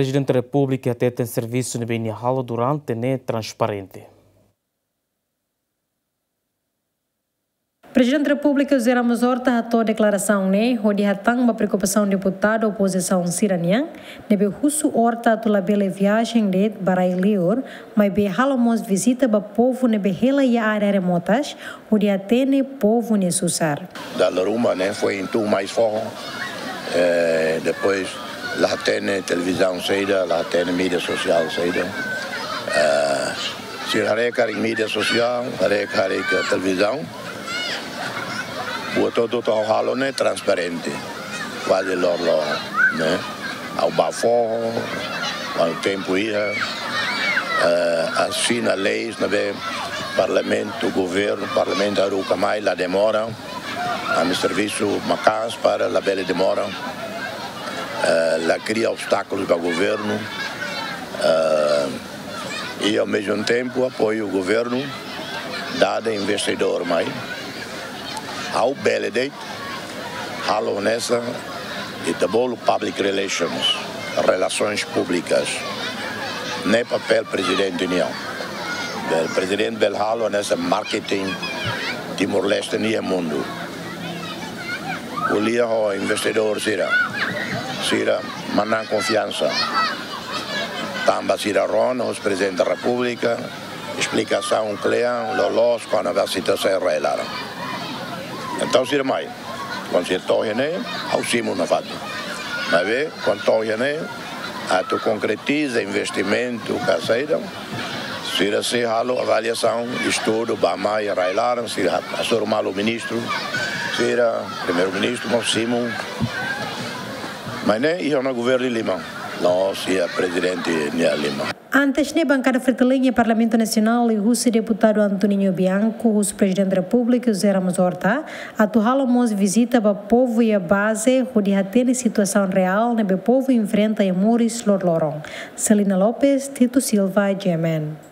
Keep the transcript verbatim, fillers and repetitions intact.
Prezidente Repúblika hateten servisu ne'ebé nia halo durante ne'e transparente. Prezidente Repúblika José Ramos Horta hato'o deklarasaun ne'e hodi hatán ba preokupasaun deputadu opozisaun sira-nian, ne'ebé husu Horta atu labele viajen de'it ba rai-liur, maibé halo mós vizita ba povu ne'ebé hela iha área remotas, hodi hatene povu nia susar. Dala ruma ne'e foin tun mai foho, eh, depois la hatene televizaun saida, la hatene mídia sosiál saida. Eh, sira haree karik mídia sosiál, haree karik televizaun. Buat hotu ha'u halo ne'e transparente. Kuaze loroloron, ne'e. Ha'u bá foho, kuandu tempu iha, eh, asina leis ne'ebé parlamentu, governu, parlamentu haruka mai, la demora. Ami servisu maka'as para labele demora. Eh, la kria obstákulus ba governu. Eh, i ao mesmo tempo apoiu governu, dada investidór mai. Ha'u bele de'it halo hanesan ita bolu public relations, relações públicas. Ne'e papél prezidente nian. Bele, prezidente bele halo hanesan marketing Timor-Leste nian iha mundu. Ko'alia ho investidór sira. Sira manán konfiansa. Tanba sira rona husi Prezidente Repúblika, esplikasaun kle'an, loloos, kona-ba situasaun rai-laran. Entaun sira mai. Kuandu sira to'o iha ne'e, ha'u simu nafatin. Maibé, kuandu to'o iha ne'e, atu konkretiza investimentu ka saida, sira sei halo avaliasaun, estudu, bá mai rai-laran, sira hasoru malu ministru, sira, primeiru-ministru, mós simu. Maibé ne'e iha ona governu nia liman, la'ós iha prezidente nia liman. Antes ne'e, bankada Fretilin iha Parlamentu Nasionál liuhusi deputadu Antoninho Bianco husu Prezidente Repúblika José Ramos Horta atu halo mós vizita ba povu iha baze hodi hatene situasaun reál ne'ebé povu enfrenta iha moris loroloron. Celina Lopes, Tito Silva, G M N.